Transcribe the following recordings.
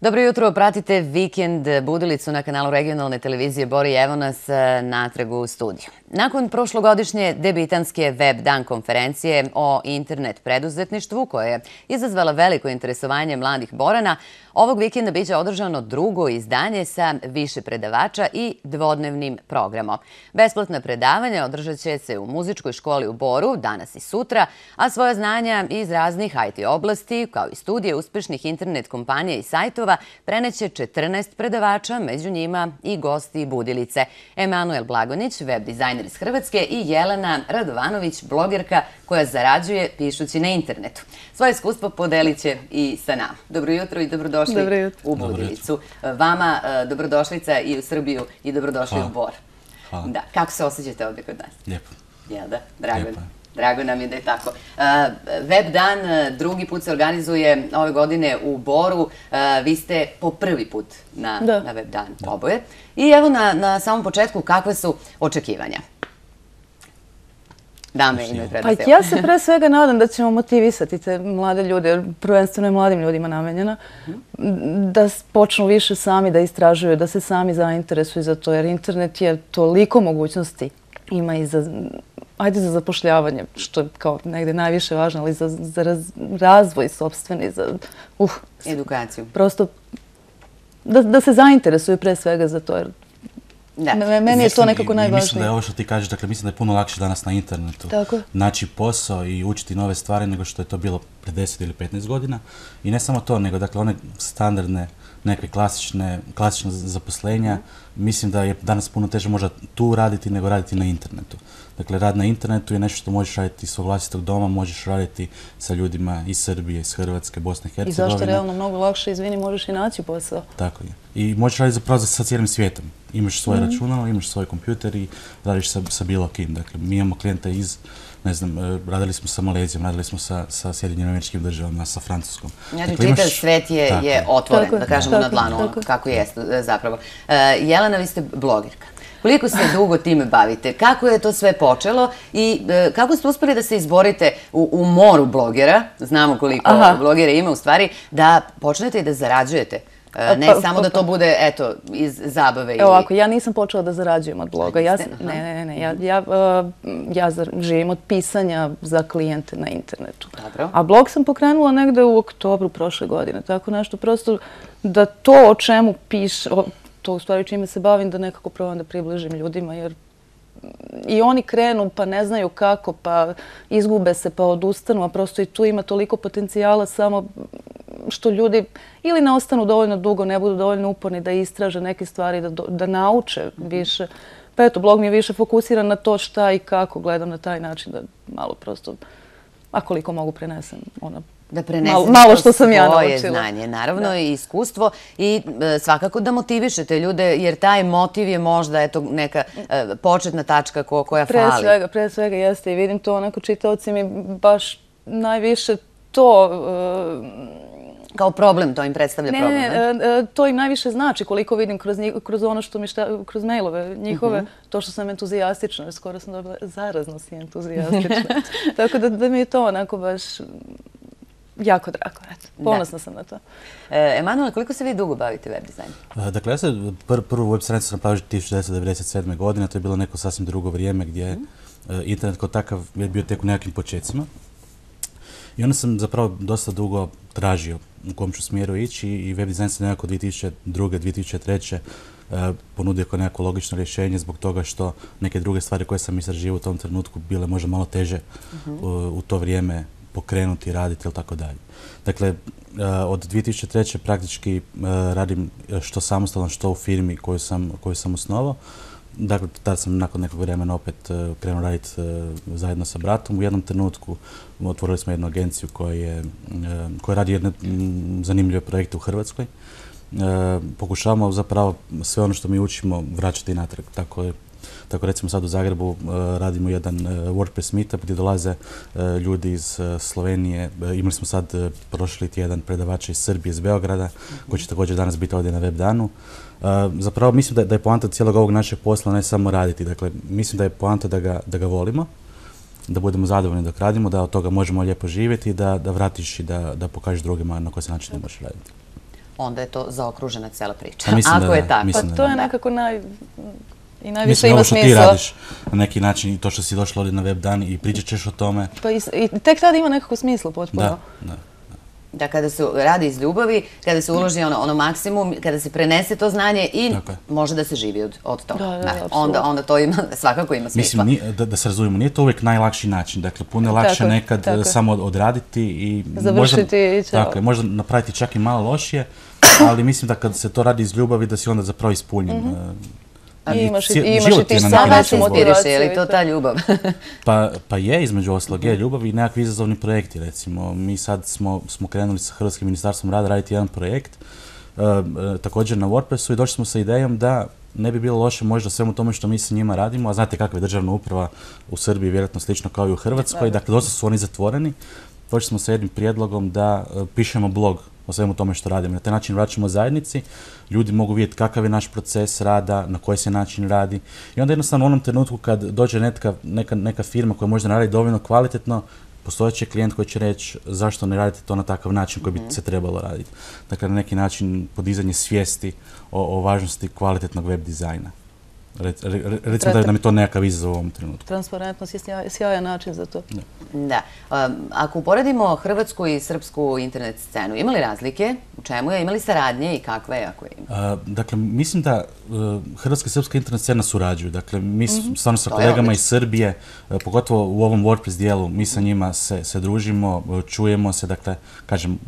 Dobro jutro, pratite Vikend budilicu na kanalu regionalne televizije Bor i evo nas natrag u studiju. Nakon prošlogodišnje debitanske web dan konferencije o internet preduzetništvu, koja je izazvala veliko interesovanje mladih Borana, ovog vikenda biće održano drugo izdanje sa više predavača i dvodnevnim programom. Besplatna predavanja održat će se u muzičkoj školi u Boru danas i sutra, a svoja znanja iz raznih IT oblasti, kao i studije uspešnih internet kompanija i sajtova, preneće 14 predavača, među njima i gosti Budilice. Emanuel Blagonić, web dizajner iz Hrvatske, i Jelena Radovanović, blogerka koja zarađuje pišući na internetu. Svoje iskustvo podelit će i sa nama. Dobro jutro i dobrodošli u Budilicu. Vama dobrodošlica i u Srbiju i dobrodošli u Bor. Da, kako se osjećate ovdje kod nas? Lijepo. Jel da? Drago nam je da je tako. Web dan drugi put se organizuje ove godine u Boru. Vi ste po prvi put na web dan oboje. I evo na samom početku kakve su očekivanja? Dame imaju prednost. Pa ja se pre svega nadam da ćemo motivisati te mlade ljude, jer prvenstveno je mladim ljudima namenjena, da počnu više sami da istražuju, da se sami zainteresuju za to, jer internet je toliko mogućnosti ima i za zapošljavanje, što je kao negde najviše važno, ali za razvoj sopstveni, za edukaciju. Prosto da se zainteresuju pre svega za to, jer meni je to nekako najvažnije. Mislim da je ovo što ti kažeš, dakle mislim da je puno lakše danas na internetu naći posao i učiti nove stvari nego što je to bilo pre 10 ili 15 godina. I ne samo to, nego dakle one standardne, neke klasične zaposlenja, mislim da je danas puno teže možda tu raditi nego raditi na internetu. Dakle, rad na internetu je nešto što možeš raditi iz svog vlastitog doma, možeš raditi sa ljudima iz Srbije, iz Hrvatske, Bosne i Hercegovine. I zašto realno mnogo lakše, izvini, možeš i naći posao. Tako je. I možeš raditi zapravo sa cijelim svijetom. Imaš svoje računalo, imaš svoj kompjuter i radiš sa bilo kim. Dakle, mi imamo klijenta iz, ne znam, radili smo sa Malezijom, radili smo sa Sjedinjenim Američkim Državama, sa Francuskom. Znači, čitav svet je otvoren, da kažemo na dlanu, kako jeste zapravo. Jelena, vi ste blogerka. Koliko se dugo time bavite? Kako je to sve počelo i kako ste uspeli da se izborite u moru blogera, znamo koliko blogera ima u stvari, da počnete i da zarađujete? Ne samo da to bude, eto, iz zabave. Evo ovako, ja nisam počela da zarađujem od bloga. Ne. Ja živim od pisanja za klijente na internetu. A blog sam pokrenula negde u oktobru prošle godine. Tako nešto, prosto da to o čemu pišem, to u stvari čime se bavim, da nekako probam da približim ljudima, jer i oni krenu pa ne znaju kako, pa izgube se, pa odustanu, a prosto i tu ima toliko potencijala, samo što ljudi ili ne ostanu dovoljno dugo, ne budu dovoljno uporni da istraže neke stvari, da nauče više. Pa eto, blog mi je više fokusiran na to šta i kako, gledam na taj način da malo prosto, a koliko mogu prenesem da prenesete malo što sam ja svoje naučila. Znanje, naravno i iskustvo i svakako da motivišete ljude, jer taj motiv je možda neka početna tačka koja fali. Pre svega jeste i vidim to, onako čitaoci mi baš najviše to... Kao problem, to im predstavlja problem. Ne, to im najviše znači koliko vidim kroz ono što mi kroz mailove njihove, to što sam entuzijastična, jer skoro sam dobila zarazno si entuzijastična. Tako da mi je to onako baš... jako drago, ponosna sam na to. Emanuel, koliko se vi dugo bavite web dizajnom? Dakle, ja sam prvu web stranicu sam napravio 1997. godine, to je bilo neko sasvim drugo vrijeme gdje je internet kao takav je bio tek u nekakvim počecima. I onda sam zapravo dosta dugo tražio u kom ću smjeru ići i web dizajn se nekako 2002. 2003. ponudio kao nekako logično rješenje zbog toga što neke druge stvari koje sam istraživao u tom trenutku bile možda malo teže u to vrijeme pokrenuti, raditi ili tako dalje. Dakle, od 2003. praktički radim što samostalno, što u firmi koju sam osnovao. Dakle, tada sam nakon nekog vremena opet krenuo raditi zajedno sa bratom. U jednom trenutku otvorili smo jednu agenciju koja radi jedne zanimljive projekte u Hrvatskoj. Pokušavamo zapravo sve ono što mi učimo vraćati natrag. Tako recimo sad u Zagrebu radimo jedan WordPress meetup gdje dolaze ljudi iz Slovenije. Imali smo sad prošli tjedan predavača iz Srbije, iz Beograda, koji će također danas biti ovdje na web danu. Zapravo mislim da je poanta cijelog ovog našeg posla ne samo raditi. Dakle, mislim da je poanta da ga volimo, da budemo zadovoljni dok radimo, da od toga možemo lijepo živjeti i da vratiš i da pokažeš drugima na koji se način ne možeš raditi. onda je to zaokružena cela priča. Ako je tako. Pa to je nekako i najviše mislim, ima ovo što ti smisla. radiš na neki način i to što si došla ovdje na web dan i pričat ćeš o tome. Pa i tek tada ima nekako smisla potpuno. Da, kada se radi iz ljubavi, kada se uloži ono maksimum, kada se prenese to znanje i može da se živi od toga. Onda to svakako ima smisla. Mislim, da se razumijemo, nije to uvijek najlakši način. Dakle, puno je lakše nekad samo odraditi i završiti. Možda napraviti čak i malo lošije, ali mislim da kad se to radi iz ljubavi, da si onda zapravo ispunjen. I imaš i ti sam veću motivaciju. Je li to ta ljubav? Pa je, između ostalog, je ljubav i nekakvi izazovni projekti, recimo. Mi sad smo krenuli sa Hrvatskim ministarstvom rada raditi jedan projekt, također na WordPressu, i došli smo sa idejom da ne bi bilo loše možda svemu tome što mi sa njima radimo, a znate kakva je državna uprava u Srbiji, vjerojatno slično kao i u Hrvatskoj, dakle dosta su oni zatvoreni. Došli smo sa jednim prijedlogom da pišemo blog o svemu tome što radimo. Na taj način vraćamo zajednici, ljudi mogu vidjeti kakav je naš proces rada, na koji se način radi. I onda jednostavno u onom trenutku kad dođe neka firma koja možda ne radi dovoljno kvalitetno, postojeći klijent koji će reći zašto ne radite to na takav način koji bi se trebalo raditi. Dakle, na neki način podizanje svijesti o važnosti kvalitetnog web dizajna. Recimo da mi je to nekakav izazov u ovom trenutku. Transparentnost je sjajan način za to. Da. Ako uporedimo hrvatsku i srpsku internet scenu, ima li razlike? U čemu je? Ima li saradnje i kakve je ako ima? Dakle, mislim da hrvatska i srpska internet scena surađuju. Dakle, mi stvarno sa kolegama iz Srbije, pogotovo u ovom WordPress dijelu, mi sa njima se družimo, čujemo se. Dakle, kažem,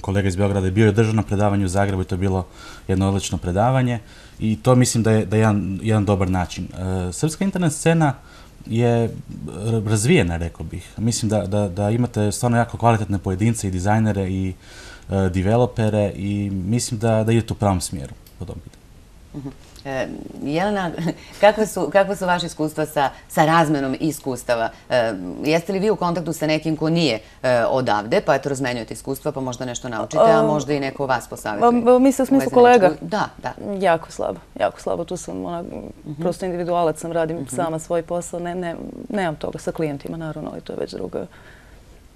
kolega iz Beograda je bio i održao na predavanju u Zagrebu i to je bilo jedno odlično predavanje. I to mislim da je jedan dobar način. Srpska internet scena je razvijena, rekao bih. Mislim da imate stvarno jako kvalitetne pojedince i dizajnere i developere i mislim da idete u pravom smjeru po tom pitanju. Jelena, kakva su vaše iskustva sa razmenom iskustava? Jeste li vi u kontaktu sa nekim ko nije odavde, pa eto razmenjujete iskustva, pa možda nešto naučite, a možda i neko vas posavjetuje? Misli u smislu kolega? Da. Jako slabo. Tu sam prosto individualac, sam radim sama svoj posao, nemam toga sa klijentima, naravno, ali to je već druga.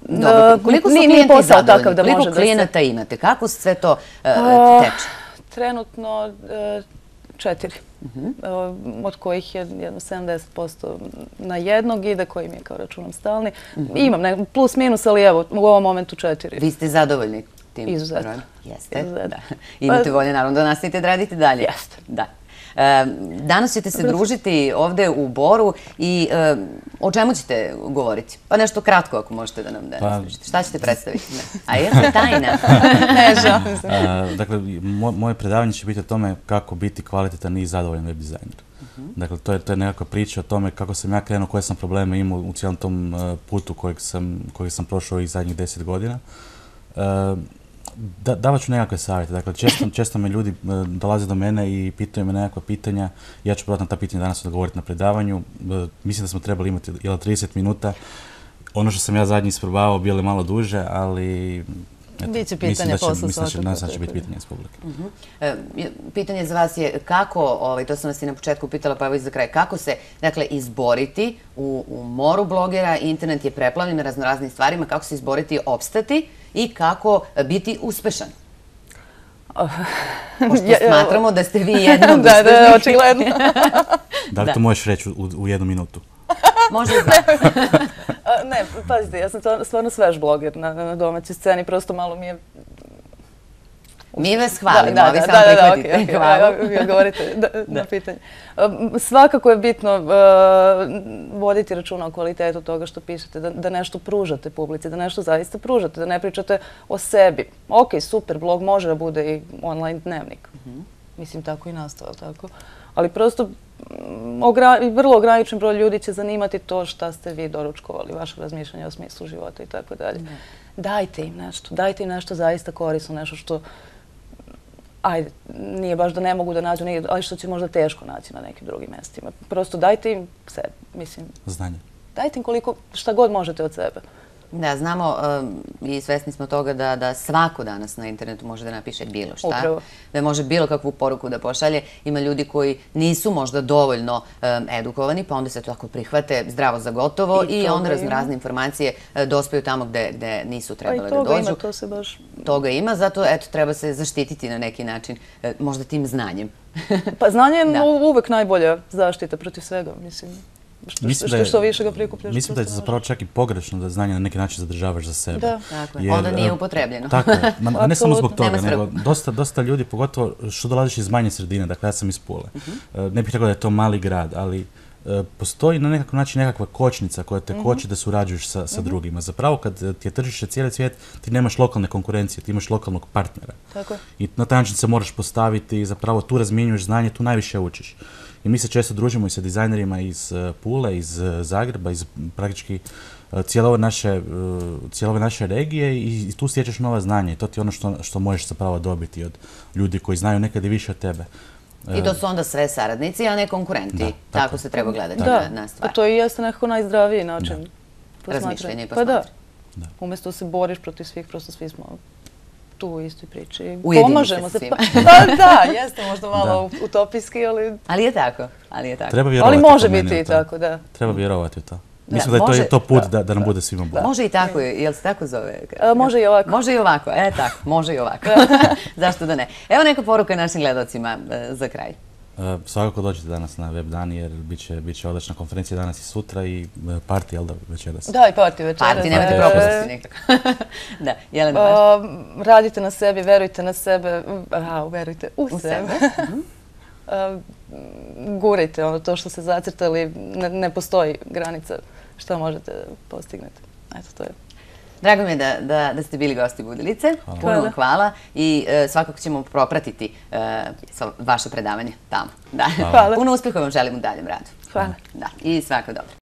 Dobro, koliko su klijenti zadovoljni? Koliko klijenata imate? Kako sve to teče? Trenutno 4, od kojih je jedno 70% na jednog ide, koji mi je kao računom stalni. Imam plus minus, ali evo, u ovom momentu 4. Vi ste zadovoljni tim? Izuzetno. Jeste, da. Imate volje, naravno, da nastavite da radite dalje. Jeste. Da. Danas ćete se družiti ovde u Boru i o čemu ćete govoriti? Pa nešto kratko ako možete da nam ispričate. Šta ćete predstaviti? A jeste tajna? Ne, žao. Dakle, moje predavanje će biti o tome kako biti kvalitetan i zadovoljan web dizajner. Dakle, to je nekakva priča o tome kako sam ja krenuo, koje sam probleme imao u cijelom tom putu kojeg sam prošao ovih zadnjih 10 godina. Davat ću nekakve savjete. Dakle, često me ljudi dolaze do mene i pitaju me nekakva pitanja. Ja ću probati na ta pitanja danas odgovoriti na predavanju. Mislim da smo trebali imati 30 minuta. Ono što sam ja zadnji isprobavao bilo je malo duže, ali biće pitanje posle svakako. Mislim da će biti pitanje iz publike. Pitanje za vas je kako, to sam vas i na početku pitala, pa evo i za kraj, kako se, dakle, izboriti u moru blogera, internet je preplavljen raznoraznim stvarima, kako se izboriti, opstati i kako biti uspešan? Pošto smatramo da ste vi jedna od uspešnih. Da, očigledno. Da li to možeš reći u jednu minutu? Može i dva. Ne, pazite, ja sam stvarno svež bloger na domaćoj sceni, prosto malo mi je... Mi vas hvalimo, a vi samo prihvatite. Hvala. Govorite na pitanje. Svakako je bitno voditi računa o kvalitetu toga što pišete, da nešto pružate publici, da nešto zaista pružate, da ne pričate o sebi. Ok, super, blog može da bude i online dnevnik. Mislim, tako i nastao, tako. Ali prosto vrlo ograničen broj ljudi će zanimati to šta ste vi doručkovali, vaše razmišljanje o smislu života i tako dalje. Dajte im nešto zaista korisno, nešto što, ajde, nije baš da ne mogu da nađu, ali što će možda teško naći na nekim drugim mjestima. Prosto dajte im sebe, mislim. Znanje. Dajte im šta god možete od sebe. Da, znamo i svesni smo toga da svako danas na internetu može da napiše bilo šta. Upravo. Da može bilo kakvu poruku da pošalje. Ima ljudi koji nisu možda dovoljno edukovani, pa onda se to tako prihvate zdravo za gotovo i onda razne informacije dospaju tamo gde nisu trebale da dođu. Pa i toga ima, to se baš... Toga ima, zato eto, treba se zaštititi na neki način, možda tim znanjem. Pa znanje je uvek najbolja zaštita protiv svega, mislim. Što više ga prikupljaš. Mislim da je zapravo čak i pogrešno da znanje na neki način zadržavaš za sebe. Da. Tako je. Onda nije upotrebljeno. Tako je. Ne samo zbog toga, nego dosta ljudi, pogotovo što dolaziš iz manje sredine, dakle ja sam iz Pule. Ne bih rekao da je to mali grad, ali postoji na nekakav način nekakva kočnica koja te koči da surađuješ sa drugima. Zapravo kad ti je tržište cijeli svijet, ti nemaš lokalne konkurencije, ti imaš lokalnog partnera. Tako je. I na taj način se moraš postaviti i zapravo tu razmjenjuješ znanje, tu najviše učiš. I mi se često družimo i sa dizajnerima iz Pule, iz Zagreba, iz praktički cijele ove naše regije i tu stječeš nova znanja i to ti je ono što možeš zapravo dobiti od ljudi koji znaju nekad i više od tebe. I to su onda sve saradnici, a ne konkurenti. Tako se treba gledati na stvar. Pa to i jeste nekako najzdraviji način razmišljanja i posmatranja. Pa da. Umjesto se boriš protiv svih, prosto svi smo tu u istoj priči. Ujedini se sa svima. Da, jeste možda malo utopijski, ali... Ali je tako. Treba vjerovati. Ali može biti i tako, da. Treba vjerovati u to. Mislim da je to put da nam bude svima bolje. Može i tako, jel se tako zove? Može i ovako. Može i ovako, tako, može i ovako. Zašto da ne? Evo neka poruka našim gledalcima za kraj. Svakako dođete danas na web dan jer bit će odlična konferencija danas i sutra i party, jel da, večeras? Da, i party večeras. Party, nemojte propustiti nekako. Da, Jelena Baš. Radite na sebi, verujte na sebe, verujte u sebe. Gurajte to što ste zacrtali, ne postoji granica što možete postignete. Eto, to je. Drago mi je da ste bili gosti Budilice. Puno vam hvala i svakako ćemo propratiti vaše predavanje tamo. Puno uspjeha vam želim u daljem radu. Hvala. I svako dobro.